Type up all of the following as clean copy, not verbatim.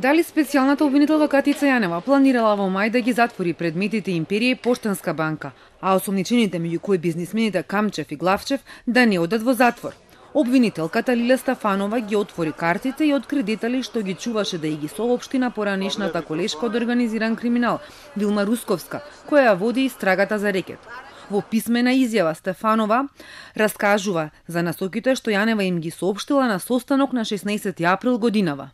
Дали специјалната обвинителка Катица Јанева планирала во мај да ги затвори предметите Империја и Поштенска банка, а осомничените меѓу кои бизнисмените Камчев и Главчев да не одат во затвор. Обвинителката Лиле Стефанова ги отвори картите и откри детали што ги чуваше да ги соопшти на поранешната колешка од организиран криминал Вилма Русковска, која ја води истрагата за рекет. Во писмена изјава Стефанова раскажува за насоките што Јанева им ги соопштила на состанок на 16 април годинава.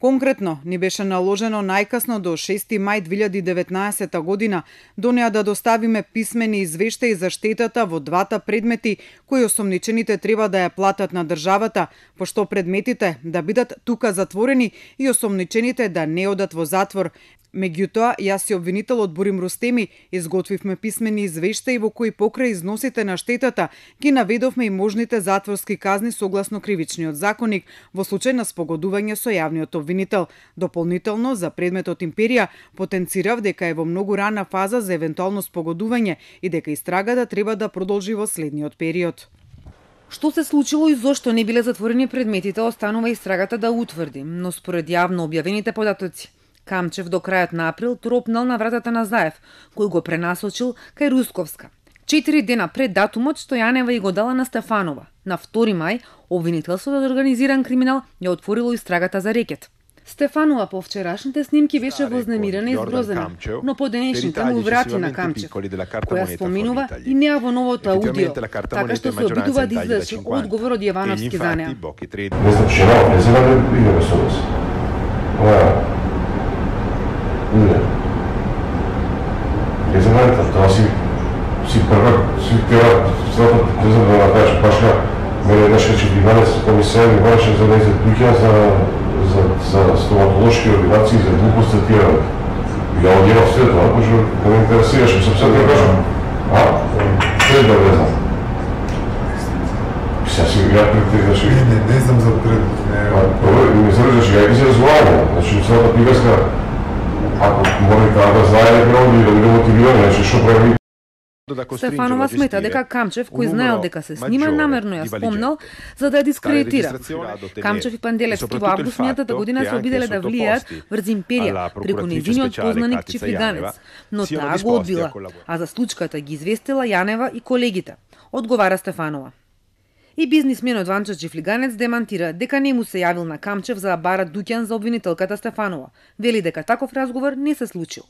Конкретно, ни беше наложено најкасно до 6 мај 2019 година до неа да доставиме писмени извештаи за штетата во двата предмети кои осомничените треба да ја платат на државата, пошто предметите да бидат тука затворени и осомничените да не одат во затвор. Меѓутоа, јас и обвинителот Борим Рустеми изготвивме писмени извештаи во кои покрај износите на штетата ги наведовме и можните затворски казни согласно кривичниот законник во случај на спогодување со јавниот обвинител. Дополнително, за предметот Империја, потенцирав дека е во многу рана фаза за евентуално спогодување и дека истрагата треба да продолжи во следниот период. Што се случило и зошто не биле затворени предметите останува истрагата да утврди, но според јавно објавените податоци, Камчев до крајот на април тропнал на вратата на Заев, кој го пренасочил кај Русковска. 4 дена пред датумот што Јанева и го дала на Стефанова. На 2 мај, обвинителството за организиран криминал ја отворило истрагата за рекет. Стефанова по вчерашните снимки беше вознемирена и згрозена, но по денешните му врати на Камчев, која споменува и неа во новото аудио, така што се обидува да извлече одговор од Јовановски за неа. Не знам што не знам да идеме со нас. Не знам, тоа си првак, си тера, не знам да накажеш, башка, мене еднаш рече 12 комисар ми бараше за да изедуќа за стоматолошки ординации, за глупост цитиране. Ја одјавав све тоа, пошто не ме интересираше, сам се да кажам. Све да не знам. Сега си ја претегнаш. Не знам за пред. Не зарежаш, ја ги се разговараме. Значи, целата приказка, ако може да знае да биде мотивиран, што прави. Стефанова смета дека Камчев, кој знаел дека се снима, намерно ја спомнал за да ја дискредитира. Камчев и Панделевски во август минатата година се обиделе да влијаат врз Империја преку нејзиниот познаник Чифлиганец, но таа го одбила, а за случката ги известила Јанева и колегите, одговара Стефанова. И бизнисменот Ванчо Чифлиганец демантира дека не му се јавил на Камчев за да бара дуќан за обвинителката Стефанова. Вели дека таков разговор не се случил.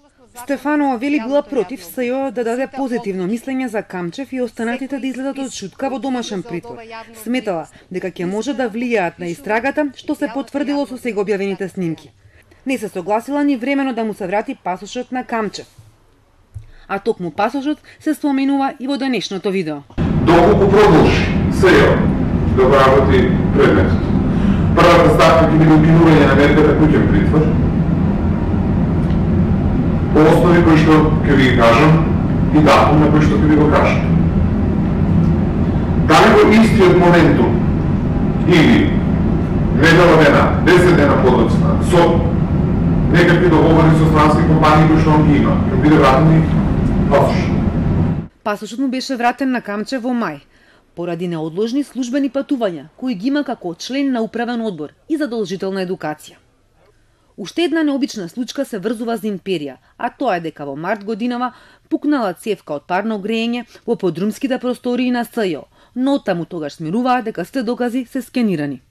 Стефанова вели била против СЈО да даде позитивно мислење за Камчев и останатите да излезат од шутка во домашен притвор. Сметала дека ќе може да влијаат на истрагата, што се потврдило со сега објавените снимки. Не се согласила ни времено да му се врати пасошот на Камчев. А токму пасошот се споменува и во денешното видео. Доколку продолжи СЈО да го работи предметот, првата ставка ќе биде укинување на мерката куќен притвор, по основи кои што ќе ви кажам и датум на кој што ќе ви го кажам. Дали во истиот моментум или недела дена, 10 дена подоцна, со некакви договори со странски компании кои што он ги има, ќе биде вратен и пасошот. Пасошот му беше вратен на Камчев во мај, поради неодложни службени патувања, кои ги има како член на управен одбор и задолжителна едукација. Уште една необична случка се врзува за Империја, а тоа е дека во март годинава пукнала цевка од парно грејење во подрумските простории на СЈО, но таму тогаш смируваа дека сите докази се скенирани.